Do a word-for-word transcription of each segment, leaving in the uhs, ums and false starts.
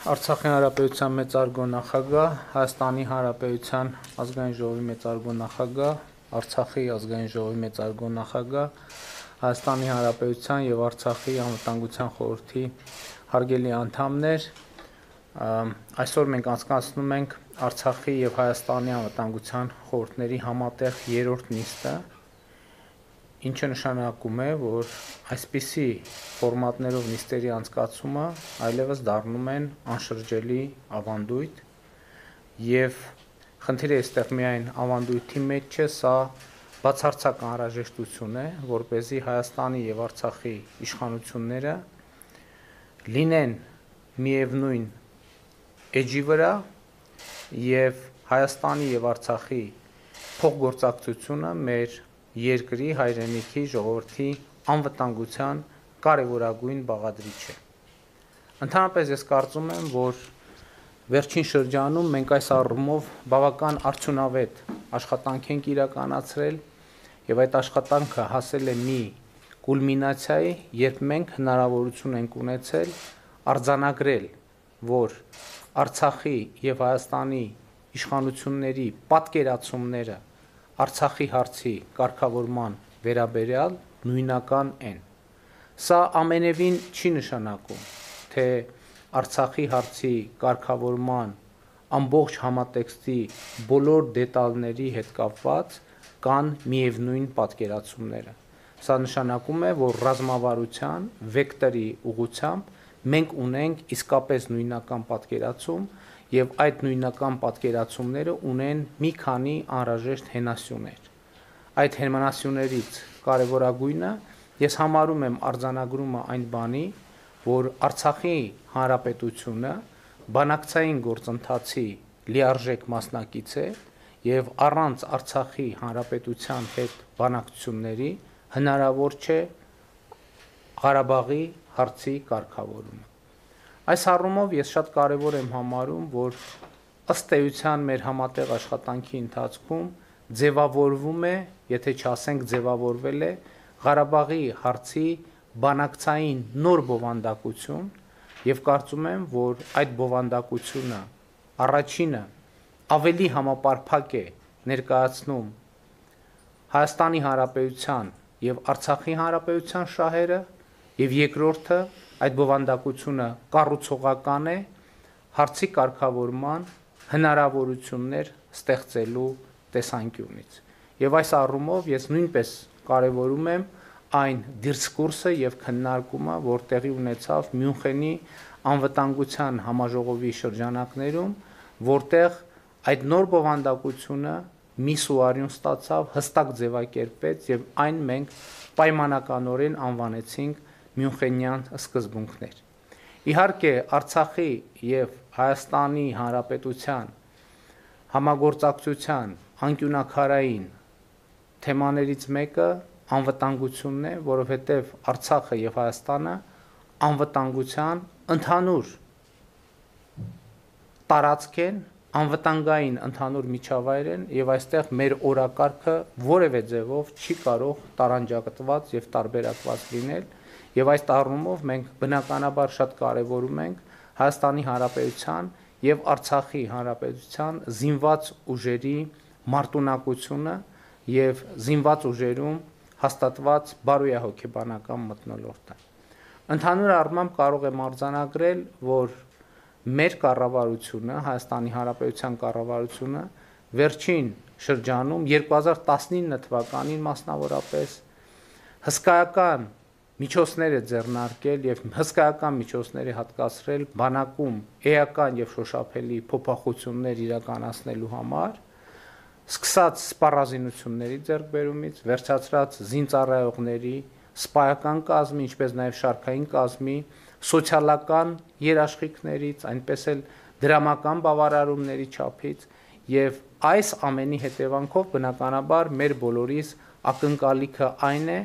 Արցախի հանրապետության մեծարգո նախագահ, Հայաստանի Հանրապետության ազգային ժողովի մեծարգո նախագահ, Արցախի ազգային ժողովի մեծարգո նախագահ, Հայաստանի Հանրապետության եւ Արցախի անվտանգության խորհրդի հարգելի անդամներ, այսօր մենք անցկացնում ենք Արցախի եւ Հայաստանի անվտանգության խորհուրդների համատեղ երրորդ նիստը, ինչը նշանակում է, որ այսպիսի ֆորմատներով նիստերի անցկացումը այլևս դառնում են անշրջելի ավանդույթ եւ խնդիրը այստեղ միայն ավանդույթի մեջ չէ, սա բացարձակ անհրաժեշտություն է, որպեսզի Հայաստանի եւ Արցախի իշխանությունները լինեն միևնույն էջի վրա եւ Հայաստանի եւ Արցախի փոխգործակցությունը մեր երկրի հայրենիքի ժողովրդի անվտանգության կարևորագույն բաղադրիչ է։ Ընդհանրապես ես կարծում եմ, որ վերջին շրջանում մենք այս առումով բավական արդյունավետ աշխատանք ենք իրականացրել եւ այդ աշխատանքը հասել է մի կուլմինացիայի, երբ մենք հնարավորություն ենք ունեցել արձանագրել, որ Արցախի եւ Հայաստանի իշխանությունների պատկերացումները Արցախի հարցի կարգավորման վերաբերյալ նույնական են։ Սա ամենևին չի նշանակում, թե Արցախի հարցի կարգավորման ամբողջ համատեքստի բոլոր դետալների հետ կապված կան միևնույն պատկերացումները։ Սա նշանակում է, որ ռազմավարության վեկտորի ուղղությամբ մենք ունենք իսկապես նույնական պատկերացում եւ այդ նույնական պատկերացումները ունեն մի քանի անհրաժեշտ հենասյուներ։ Այդ հենասյուներից կարևորագույնը ես համարում եմ արձանագրումը այն բանի, որ Արցախի հանրապետությունը բանակցային գործընթացի լիարժեք մասնակից է եւ առանց Արցախի հանրապետության հետ բանակցությունների հնարավոր չէ Ղարաբաղի հարցի կարգավորումը։ Այս առումով ես շատ կարևոր եմ համարում, որ ըստ էության մեր համատեղ աշխատանքի ընթացքում ձևավորվում է, եթե չասենք ձևավորվել է Ղարաբաղի հարցի բանակցային նոր բովանդակություն եւ կարծում եմ, որ այդ բովանդակությունը առաջինը ավելի համապարփակ է ներկայացնում Հայաստանի Հանրապետության եւ Արցախի Հանրապետության շահերը եւ երկրորդը այդ բովանդակությունը կառուցողական է հարցի կարգավորման հնարավորություններ ստեղծելու տեսանկյունից։ Եվ այս առումով ես նույնպես կարևորում եմ այն դիսկուրսը եւ քննարկումը, որ տեղի ունեցավ Մյունխենի անվտանգության համաժողովի շրջանակներում, որտեղ այդ նոր բովանդակությունը մի սուարյուն ստացավ, հստակ ձևակերպեց եւ այն մենք պայմանականորեն անվանեցինք Մյունխենյան սկզբունքներ։ Իհարկե Արցախի եւ Հայաստանի Հանրապետության համագործակցության անկյունաքարային թեմաներից մեկը անվտանգությունն է, որովհետեւ Արցախը եւ Հայաստանը անվտանգության ընդհանուր տարածք են, անվտանգային ընդհանուր միջավայր են եւ այստեղ մեր օրակարգը որևէ ձևով չի կարող տարանջատված եւ տարբերակված լինել եւ այս առումով մենք բնականաբար շատ կարեւորում ենք Հայաստանի Հանրապետության եւ Արցախի Հանրապետության զինված ուժերի մարտունակությունը եւ զինված ուժերում հաստատված բարոյահոգեբանական մթնոլորտը։ Ընդհանուր առմամբ կարող եմ արձանագրել, որ մեր կառավարությունը, Հայաստանի Հանրապետության կառավարությունը վերջին շրջանում երկու հազար տասնինը թվականին մասնավորապես հսկայական միջոցներ է ձեռնարկել եւ հսկայական միջոցներ է հատկացրել բանակում էական եւ շոշափելի փոփոխություններ իրականացնելու համար, սկսած սպառազինությունների ձեռքբերումից, վերջացրած զինծառայողների, սպայական կազմի, ինչպես նաեւ շարքային կազմի, սոցիալական երաշխիքներից, այնպես էլ դրամական բավարարումների չափից եւ այս ամենի հետևանքով բնականաբար մեր բոլորիս ակնկալիքը այն է,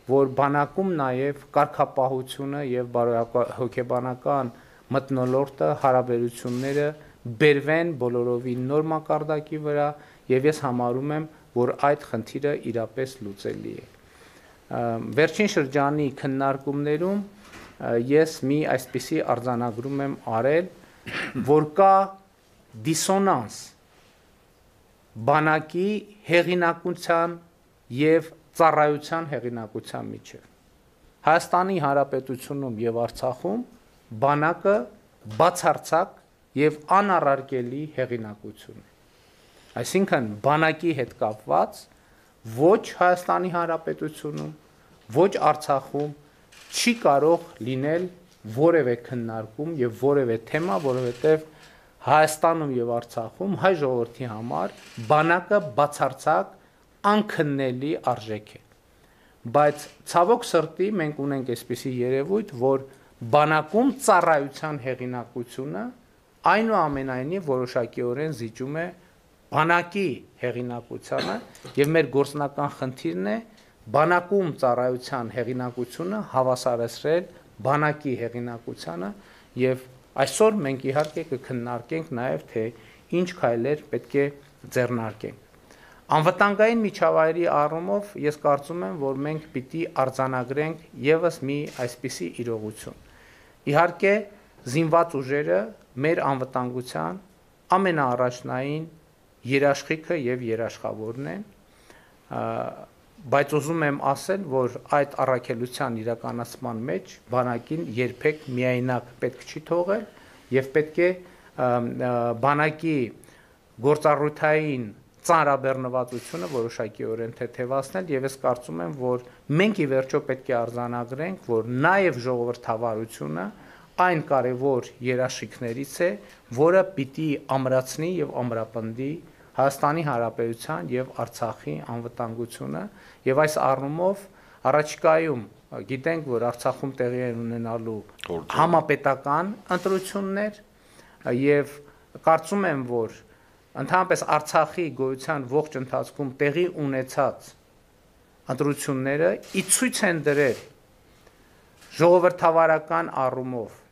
որ բանակում նաեւ կարգապահությունը եւ բարոյահոգեբանական մթնոլորտը հարաբերությունները բերվեն բոլորովին նոր մակարդակի վրա եւ ես համարում եմ, որ այդ խնդիրը իրապես լուծելի է։ Վերջին շրջանի քննարկումներում ես մի այսպիսի արձանագրում եմ արել որ կա դիսոնանս բանակի հեղինակության եւ ծառայության հեղինակության միջև։ Հայաստանի Հանրապետությունում եւ Արցախում բանակը բացարձակ եւ անառարկելի հեղինակություն է։ Այսինքն բանակի հետ կապված ոչ Հայաստանի Հանրապետությունում, ոչ Արցախում չի կարող լինել որևէ քննարկում եւ որևէ թեմա, որովհետեւ Հայաստանում եւ Արցախում հայ ժողովրդի համար բանակը բացարձակ անքննելի արժեք է։ Բայց ցավոք սրտի մենք ունենք այսպիսի երևույթ, որ բանակում ծառայության հեղինակությունը այնուամենայնիվ որոշակիորեն զիջում է բանակի հեղինակությանը եւ մեր գործնական խնդիրն է բանակում ծառայության հեղինակությունը հավասարեցրել բանակի հեղինակությանը եւ այսօր մենք իհարկե կքննարկենք նաեւ թե ինչ քայլեր պետք է ձեռնարկենք։ Անվտանգային միջավայրի առումով ես կարծում եմ, որ մենք պիտի արձանագրենք եւս մի այսպիսի իրողություն։ Իհարկե զինված ուժերը մեր անվտանգության ամենաառաջնային երաշխիքը եւ երաշխավորն են, բայց ուզում եմ ասել, որ այդ առաքելության իրականացման մեջ բանակին երբեք միայնակ պետք չի թողել եւ պետք է բանակի գործառույթային ծանրաբեռնվածությունը որոշակիորեն թեթևացնել եւ ես կարծում եմ, որ մենք ի վերջո պետք է արձանագրենք, որ նաեւ ժողովրդավարությունը այն կարևոր երաշխիքներից է, որը պիտի ամրացնի եւ ամրապնդի Հայաստանի Հանրապետության եւ Արցախի անվտանգությունը եւ այս առումով առաջիկայում գիտենք, որ Արցախում տեղի են ունենալու համապետական ընտրություններ եւ կարծում եմ, որ ընդհանրապես Արցախի գոյության ողջ ընթացքում տեղի ունեցած ընտրությունները ի ցույց են դրել ժողովրդավարական առումով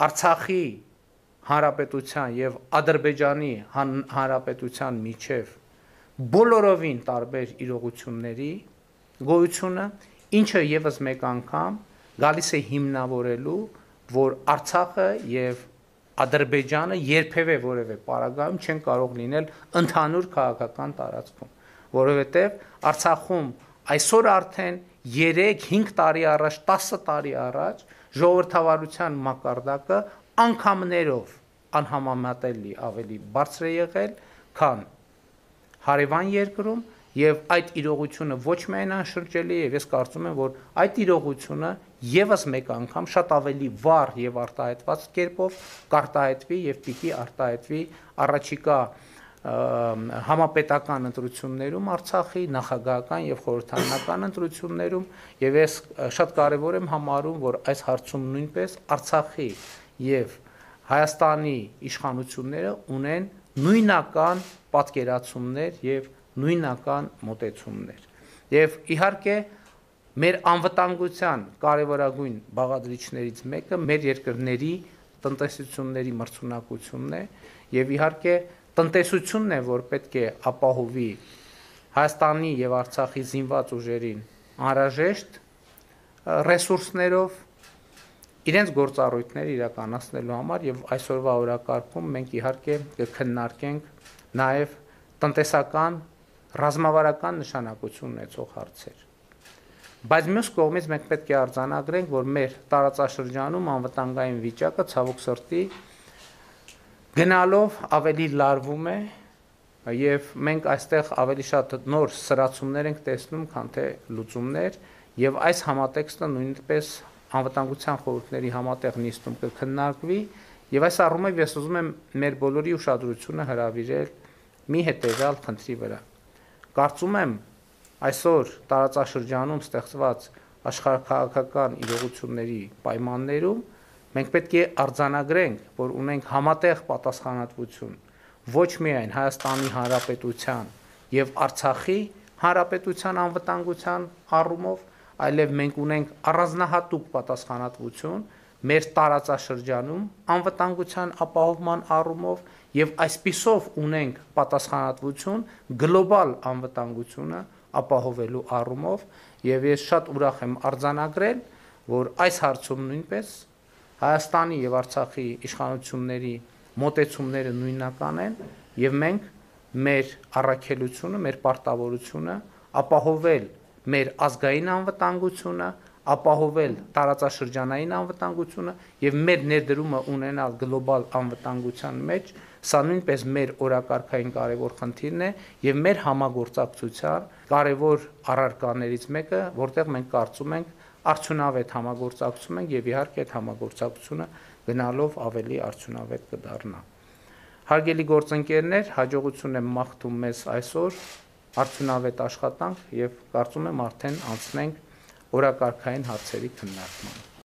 Արցախի Հանրապետության եւ Ադրբեջանի Հանրապետության միջև բոլորովին տարբեր իրողությունների գոյությունը, ինչը եւս մեկ անգամ գալիս է հիմնավորելու, որ Արցախը եւ Ադրբեջանը երբևէ որևէ պարագայում չեն կարող լինել ընդհանուր քաղաքական տարածքում, որովհետեւ Արցախում այսօր արդեն երեք հինգ տարի առաջ, տասը տարի առաջ ժողովրդավարության մակարդակը անգամներով անհամեմատելի ավելի բարձր է եղել, քան հարևան երկրում եւ այդ իրողությունը ոչ միայն անշրջելի է, եւ ես կարծում եմ, որ այդ իրողությունը եւս մեկ անգամ շատ ավելի վառ եւ արտահայտված կերպով կարտահայտվի եւ պիտի արտահայտվի առաջիկա համապետական ընտրություններում Արցախի նախագահական եւ խորհրդարանական ընտրություններում եւ ես շատ կարեւոր եմ համարում, որ այս հարցում նույնպես Արցախի եւ Հայաստանի իշխանությունները ունեն նույնական պատկերացումներ եւ նույնական մոտեցումներ եւ իհարկե մեր անվտանգության կարևորագույն բաղադրիչներից մեկը մեր երկրների տնտեսությունների մրցունակությունն է եւ իհարկե տնտեսությունն է, որ պետք է ապահովի Հայաստանի եւ Արցախի զինված ուժերին անհրաժեշտ ռեսուրսներով իրենց գործառույթները իրականացնելու համար եւ այսօրվա օրակարգում մենք իհարկե կքննարկենք նաեւ տնտեսական ռազմավարական նշանակություն ունեցող հարցեր։ Բայց մյուս կողմից մենք պետք է արձանագրենք, որ մեր տարածաշրջանում անվտանգային վիճակը ցավոք սրտի գնալով ավելի լարվում է եւ մենք այստեղ ավելի շատ նոր սրացումներ ենք տեսնում, քան թե լուծումներ եւ այս համատեքստը նույնպես անվտանգության խորհուրդների համատեղ նիստում կքննարկվի եւ այս առումով ես ուզում եմ մեր բոլորի ուշադրությունը հրավիրել մի հետեւյալ խնդրի վրա։ Կարծում եմ այսօր տարածաշրջանում ստեղծված աշխարհաքաղաքական իրողությունների պայմաններում մենք պետք է արձանագրենք, որ ունենք համատեղ պատասխանատվություն ոչ միայն Հայաստանի Հանրապետության եւ Արցախի Հանրապետության անվտանգության առումով, այլև մենք ունենք առանձնահատուկ պատասխանատվություն մեր տարածաշրջանում անվտանգության ապահովման առումով եւ այսպիսով ունենք պատասխանատվություն գլոբալ անվտանգությունը ապահովելու առումով եւ ես շատ ուրախ եմ արձանագրել, որ այս հարցում նույնպես Հայաստանի եւ Արցախի իշխանությունների մոտեցումները նույնական են եւ մենք մեր առաքելությունը, մեր պարտավորությունը ապահովել մեր ազգային անվտանգությունը, ապահովել տարածաշրջանային անվտանգությունը եւ մեր ներդրումը ունենալ գլոբալ անվտանգության մեջ, սա նույնպես մեր օրակարգային կարևոր խնդիրն է եւ մեր համագործակցության կարևոր առարկաներից մեկը, որտեղ մենք կարծում ենք արդյունավետ համագործակցում ենք եւ իհարկե այդ համագործակցությունը գնալով ավելի արդյունավետ կդառնա։ Հարգելի գործընկերներ, հաջողություն եմ մաղթում մեզ այսօր, արդյունավետ աշխատանք եւ կարծում եմ արդեն անցնենք օրակարգային հարցերի քննարկմանը։